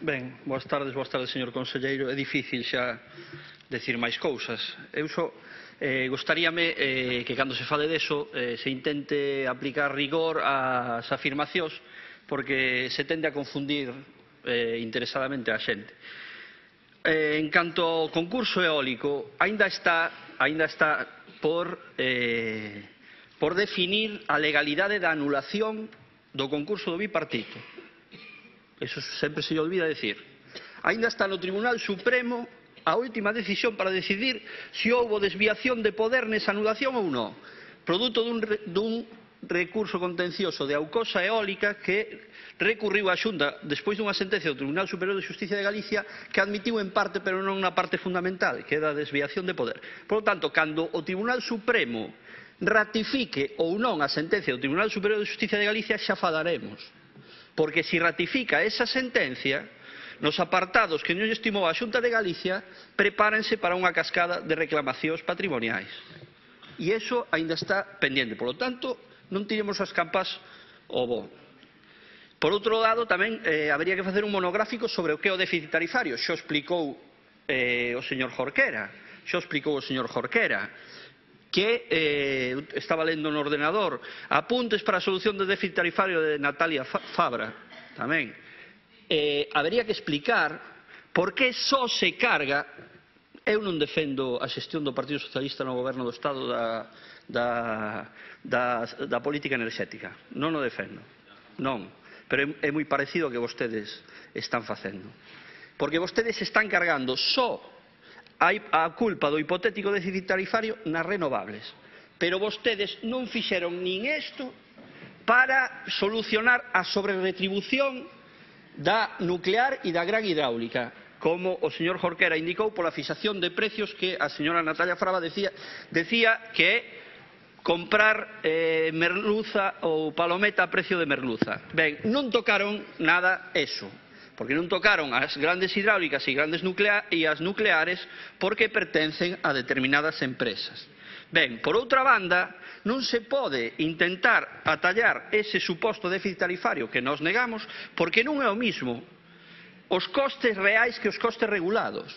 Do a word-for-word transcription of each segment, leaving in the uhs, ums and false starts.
Ben, boas tardes, boas tardes, señor conselleiro. É difícil xa decir máis cousas. Eu só eh, gostaríame eh, que cando se fale deso eh, se intente aplicar rigor ás afirmacións, porque se tende a confundir eh, interesadamente a xente. Eh, en canto ao concurso eólico, aínda está, aínda está por, eh, por definir a legalidade da anulación do concurso do bipartito. Eso sempre se lle olvida decir. Aínda está no Tribunal Supremo a última decisión para decidir se houbo desviación de poder nesa anulación ou non, produto dun, dun recurso contencioso de Aucosa Eólica que recurriu a Xunta despois dunha sentencia do Tribunal Superior de Xusticia de Galicia que admitiu en parte, pero non na parte fundamental, que é da desviación de poder. Por lo tanto, cando o Tribunal Supremo ratifique ou non a sentencia do Tribunal Superior de Xusticia de Galicia, xa falaremos. Porque se ratifica esa sentencia, nos apartados que non estimou a Xunta de Galicia, prepárense para unha cascada de reclamacións patrimoniais. E iso aínda está pendente. Por lo tanto, non tiremos as campas ao bo. Por outro lado, tamén eh, habería que facer un monográfico sobre o que é o déficit tarifario. Xo explicou eh, o señor Jorquera. Xo explicou o señor Jorquera. que eh, estaba lendo no ordenador apuntes para a solución do déficit tarifario de Natalia Fabra tamén. Eh, habería que explicar por que só se carga. Eu non defendo a xestión do Partido Socialista no goberno do Estado da, da, da, da política enerxética, non o defendo, non, pero é, é moi parecido ao que vostedes están facendo, porque vostedes están cargando só a culpa do hipotético déficit tarifario nas renovables. Pero vostedes non fixeron nin isto para solucionar a sobreretribución da nuclear e da gran hidráulica, como o señor Jorquera indicou pola fixación de precios que a señora Natalia Fabra decía, decía que é comprar eh, merluza ou palometa a precio de merluza. Ben, non tocaron nada eso, porque non tocaron as grandes hidráulicas e grandes nuclea e as nucleares porque pertencen a determinadas empresas. Ben, por outra banda, non se pode intentar atallar ese suposto déficit tarifario que nos negamos porque non é o mismo os costes reais que os costes regulados.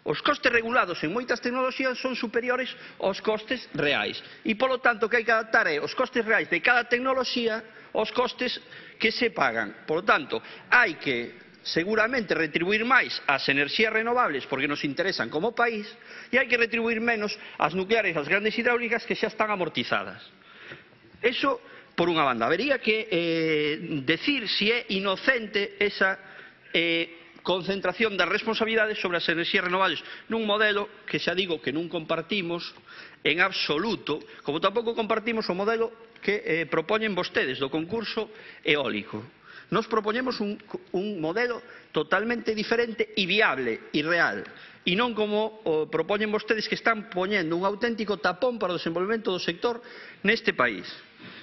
Os costes regulados en moitas tecnoloxías son superiores aos costes reais e, polo tanto, que hai que adaptar é os costes reais de cada tecnoloxía aos costes que se pagan. Por lo tanto, hai que seguramente retribuir máis as enerxías renovables porque nos interesan como país e hai que retribuir menos as nucleares e as grandes hidráulicas que xa están amortizadas. Eso por unha banda. Habería que eh, decir se é inocente esa eh, concentración das responsabilidades sobre as enerxías renovables nun modelo que xa digo que non compartimos en absoluto, como tampouco compartimos o modelo que eh, propoñen vostedes do concurso eólico. Nos propoñemos un, un modelo totalmente diferente e viable e real, e non como o propoñen vostedes que están poñendo un auténtico tapón para o desenvolvemento do sector neste país.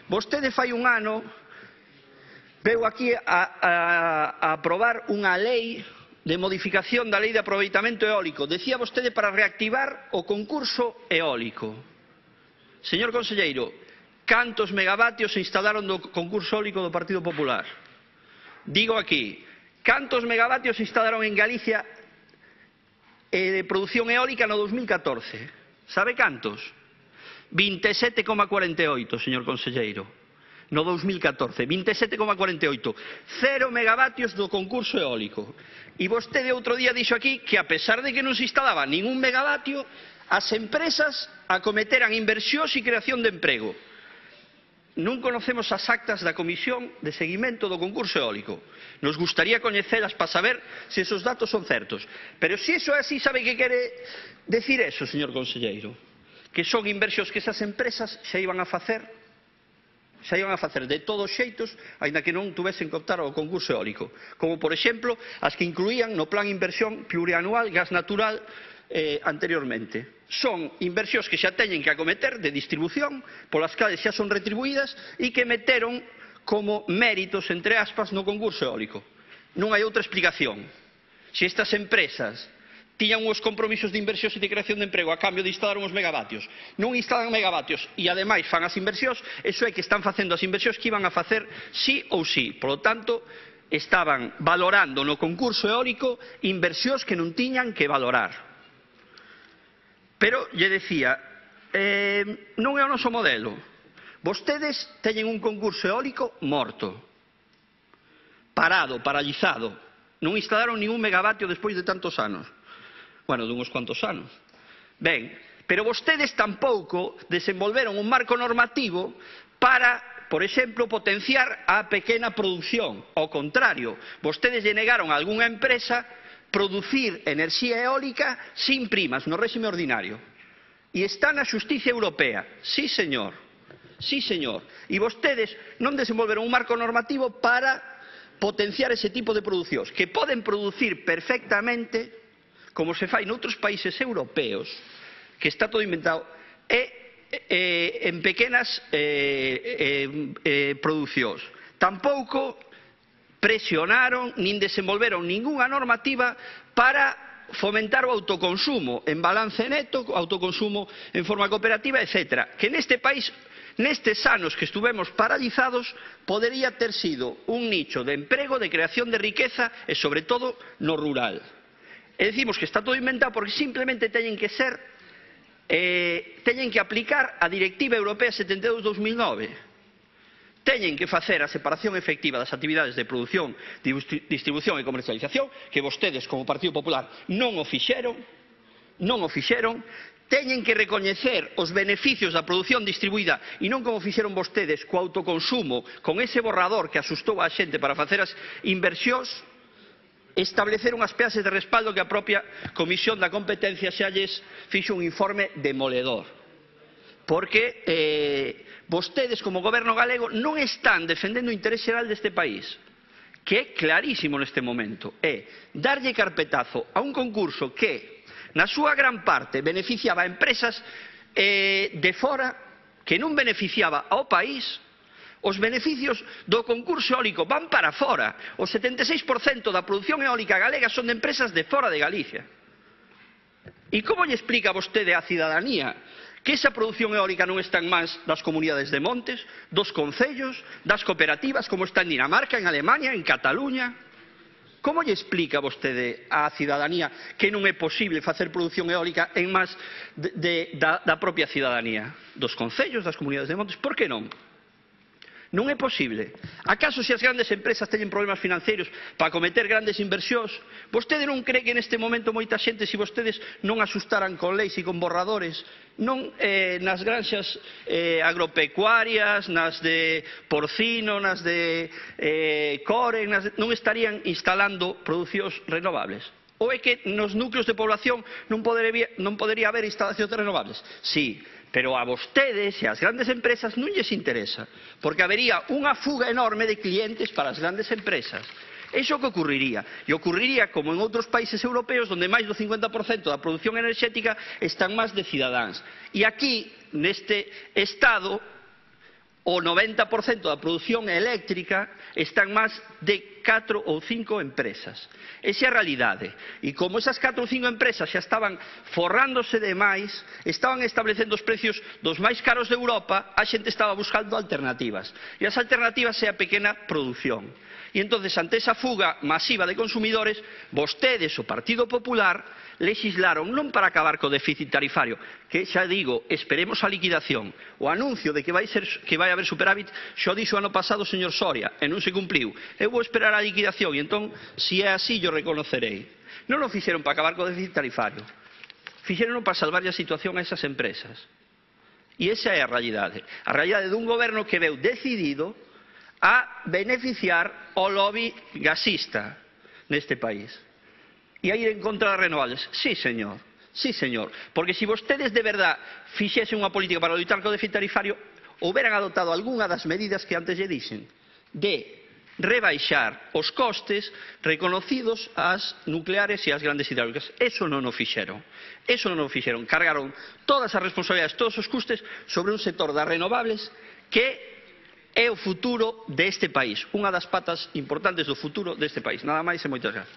Vostede fai un ano veu aquí a, a, a aprobar unha lei de modificación da lei de aproveitamento eólico. Decía vostede para reactivar o concurso eólico. Señor conselleiro, cantos megavatios se instalaron do concurso eólico do Partido Popular? Digo aquí, cantos megavatios se instalaron en Galicia eh, de produción eólica no dos mil catorce? Sabe cantos? vinte e sete coma cuarenta e oito, señor conselleiro. No dos mil catorce, vinte e sete coma cuarenta e oito, cero megavatios do concurso eólico. E vostede outro día dixo aquí que a pesar de que non se instalaba ningún megavatio, as empresas acometeran inversións e creación de emprego. Non conocemos as actas da Comisión de Seguimento do concurso eólico. Nos gustaría coñecelas para saber se esos datos son certos. Pero se iso é así, sabe que quere decir eso, señor conselleiro? Que son inversións que esas empresas xa iban a facer xa iban a facer de todos xeitos, aínda que non tuvesen que optar ao concurso eólico, como por exemplo as que incluían no plan inversión plurianual gas natural eh, anteriormente. Son inversións que xa teñen que acometer de distribución, polas cales xa son retribuídas e que meteron como méritos, entre aspas, no concurso eólico. Non hai outra explicación. Se estas empresas tiñan uns compromisos de inversións e de creación de emprego a cambio de instalar uns megavatios, non instalan megavatios e ademais fan as inversións, eso é que están facendo as inversións que iban a facer sí ou sí. Por lo tanto, estaban valorando no concurso eólico inversións que non tiñan que valorar. Pero lle decía, eh, non é o noso modelo. Vostedes teñen un concurso eólico morto, parado, paralizado. Non instalaron ningún megavatio despois de tantos anos. Bueno, de uns cuantos anos. Ben, pero vostedes tampouco desenvolveron un marco normativo para, por exemplo, potenciar a pequena produción. Ao contrario, vostedes lle negaron a algunha empresa producir enerxía eólica sin primas, no réxime ordinario. E está na xustiza europea. Sí, señor. Sí, señor. E vostedes non desenvolveron un marco normativo para potenciar ese tipo de producións, que poden producir perfectamente, como se fai noutros países europeos, que está todo inventado, e Eh, en pequenas eh, eh, eh, producións. Tampouco presionaron nin desenvolveron ningunha normativa para fomentar o autoconsumo en balance neto, autoconsumo en forma cooperativa, etcétera. Que neste país, nestes anos que estuvemos paralizados, podería ter sido un nicho de emprego, de creación de riqueza e, sobre todo, no rural. E decimos que está todo inventado porque simplemente teñen que ser Eh, teñen que aplicar a Directiva Europea setenta e dous barra dos mil nove. Teñen que facer a separación efectiva das actividades de produción, distribución e comercialización, que vostedes, como Partido Popular, non o fixeron, non o fixeron. Teñen que recoñecer os beneficios da produción distribuída e non como fixeron vostedes co autoconsumo, con ese borrador que asustou a xente para facer as inversións. Establecer unhas peaxes de respaldo que a propia Comisión da Competencia xa lles fixo un informe demoledor. Porque eh, vostedes, como goberno galego, non están defendendo o interés xeral deste país, que é clarísimo neste momento. É darlle carpetazo a un concurso que, na súa gran parte, beneficiaba a empresas eh, de fora, que non beneficiaba ao país. Os beneficios do concurso eólico van para fora. O setenta e seis por cento da produción eólica galega son de empresas de fora de Galicia. E como lle explica vostede á cidadanía que esa produción eólica non está en mans das comunidades de montes, dos concellos, das cooperativas, como está en Dinamarca, en Alemania, en Cataluña? Como lle explica vostede á cidadanía que non é posible facer produción eólica en mans de, de, da, da propia cidadanía? Dos concellos, das comunidades de montes? Por que non? Non é posible. Acaso se as grandes empresas teñen problemas financeiros para cometer grandes inversións? Vostede non cree que neste momento moita xente, se vostedes non asustaran con leis e con borradores, non eh, nas granxas eh, agropecuarias, nas de porcino, nas de eh, core, nas de, non estarían instalando producións renovables? Ou é que nos núcleos de población non podería, non podería haber instalacións renovables? Sí. Pero a vostedes e ás grandes empresas non lles interesa, porque habería unha fuga enorme de clientes para as grandes empresas. Iso que ocurriría, e ocurriría como en outros países europeos onde máis do cincuenta por cento da produción enerxética están máis de cidadáns. E aquí, neste estado, o noventa por cento da produción eléctrica están máis de catro ou cinco empresas. Esa é a realidade. E como esas catro ou cinco empresas xa estaban forrándose demais, estaban establecendo os precios dos máis caros de Europa, a xente estaba buscando alternativas. E as alternativas é a pequena produción. E entonces, ante esa fuga masiva de consumidores, vostedes, o Partido Popular, legislaron non para acabar co déficit tarifario, que xa digo, esperemos a liquidación. O anuncio de que vai, ser, que vai haber superávit xo dixo ano pasado o señor Soria, e non se cumpliu. Eu vou esperar a liquidación, e entón, se é así, yo reconocerei. Non o fixeron para acabar co déficit tarifario. Fixeron para salvar a situación a esas empresas. E esa é a realidade. A realidade dun goberno que veu decidido a beneficiar o lobby gasista neste país. E a ir en contra das renovables. Sí, señor. Sí, señor. Porque se vostedes de verdad fixesen unha política para loitar co déficit tarifario, houberan adoptado algunha das medidas que antes lle dixen, de rebaixar os costes reconocidos ás nucleares e ás grandes hidráulicas. Eso non o fixeron. Eso non o fixeron. Cargaron todas as responsabilidades, todos os custes sobre un sector das renovables que é o futuro deste país, unha das patas importantes do futuro deste país. Nada máis e moitas grazas.